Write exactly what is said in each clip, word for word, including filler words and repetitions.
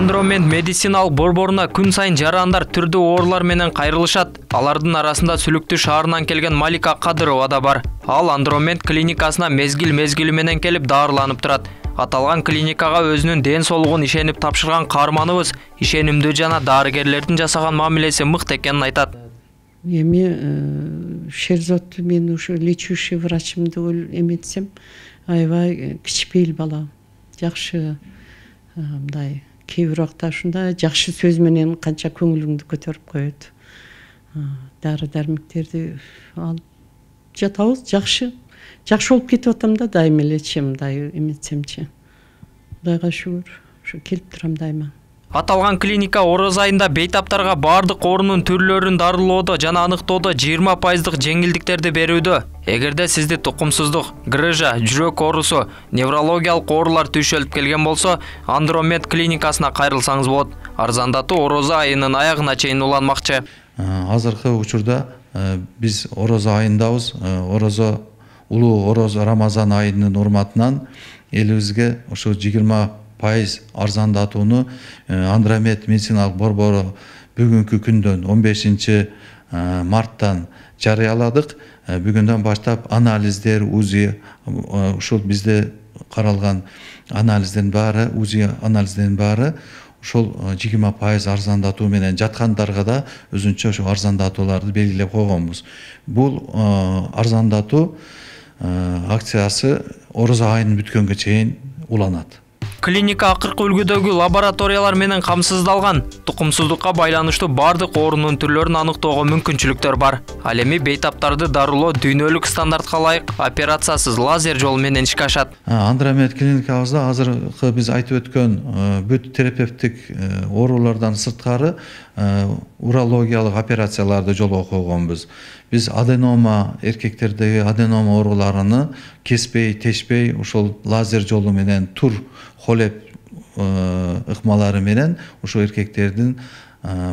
Андромед медициналык борборуна күн сайын жарандар түрдүү оорулар менен кайрылышат. Алардын арасында Сүлүктүү шаарынан келген Малика Кадырова да бар. Ал Андромед клиникасына мезгил-мезгили менен келип дарыланып турат. Аталган клиникага өзүнүн ден соолугун ишенип тапшырган каарманыбыз ишенимдүү жана дарыгерлердин жасаган мамилеси мыкты экенин айтат. Эми Шерзот мен ушу лечащий врачымды эметсем, аябай кичпейил бала. Жакшы мындай кээ бир убакта ушундай жакшы сөз менен канча көңүлүңдү көтөрүп коет. Дары дармектерди алып жатабыз, жакшы. Жакшы болуп кетип атам да, дайыма элечи мындай эметсемчи. Кудайга шүгүр, ушу келип турам дайыма. Аталган клиника ороз айында бейтаптарга бардык оорунун түрлөрүн дарылоодо жана аныктоодо жыйырма пайыздык жеңилдиктерди берүүдө. Эгерде сизди тукумсуздук, грыжа, жүрөк оорусу, неврологиялык оорулар түйшөлүп келген болсо, Андромед клиникасына кайрылсаңыз болот. Арзандатуу ороз айынын аягына чейин уланмакчы. Азыркы учурда биз ороз айындабыз. Орозо улуу ороз Рамазан айынын урматынан элибизге ошо жыйырма пайыз арзандатууну Андромед медициналык борбору бүгүнкү күндөн он бешинчи марттан жарыяладык. Бүгүндөн баштап анализдер, УЗИ, ушул бизде каралган анализдердин баары, УЗИ анализдердин баары ушул жыйырма пайыз арзандатуу менен жаткандарга да өзүнчө ошо арзандатууларды белгилеп койгонбуз. Бул арзандатуу акциясы ороз айынын бүткөнгө чейин уланат. Клиника акыркы үлгүдөгү лабораториялар менен камсыздалган. Тукумсуздукка байланыштуу бардык оорунун түрлөрүн аныктоого мүмкүнчүлүктөр бар. Ал эми бейтаптарды дарылоо дүйнөлүк стандартка ылайык операциясыз лазер жолу менен ишке ашат. Андромед клиникабызда азыркы биз айтып өткөн бүт терапевтик оорулардан сырткары урологиялык операцияларды жолго койгонбуз. Биз аденома, эркектердеги аденома ооруларыны кеспей, тешпей, ушул лазер жолу менен тур холеп ыкмалары менен ушул эркектердин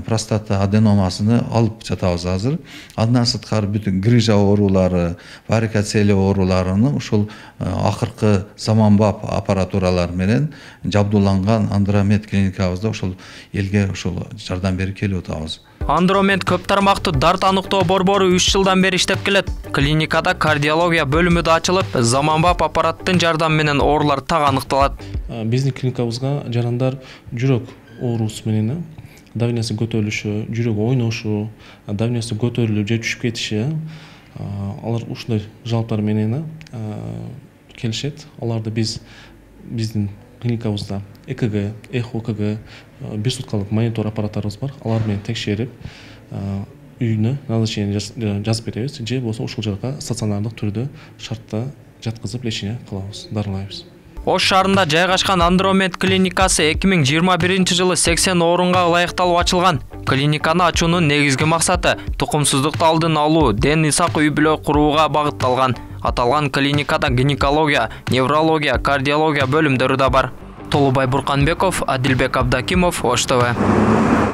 простата аденомасыны алып жатабыз азыр. Андан сырткары бүтүн грыжа оорулары, варикоцелия ооруларыны ушул акыркы заманбап аппаратуралар менен жабдууланган Андромед клиникабызда ушул элге ушул жардам берип келип атабыз. Андромед көп тармактуу дарт аныктоо борбору үч жылдан бери иштеп келет. Клиникада кардиология бөлүмү да ачылып, заманбап аппараттын жардамы менен оорулар так аныкталат. Биздин клиникабызга жарандар жүрөк оорусу менен давлениеси көтөрүлүшү, жүрөк ойношу, давлениеси көтөрүлүп же түшүп кетиши, алар ушундай жалптар менен келишет. Аларды биз биздин клиникабызда ЭКГ, эхо КГ, бир суткалык монитор аппараттарыбыз бар. Алар менен текшерип, үйүнө назначение жазып беребиз, же болсо ушул жака стационардык түрдө шартта жаткызып лечение кылабыз, дарылайбыз. Ош шаарында жайгашкан Андромед клиникасы эки миң жыйырма биринчи жылы сексен орунга ылайыкталып ачылган. Клиниканы ачуунун негизги максаты тукумсуздукту алдын алуу, ден ысак үй-бүлө курууга багытталган. Аталган клиникада гинекология, неврология, кардиология бөлүмдөрү да бар. Толубай Бурканбеков, Адилбек Абдакимов, Ош ТВ.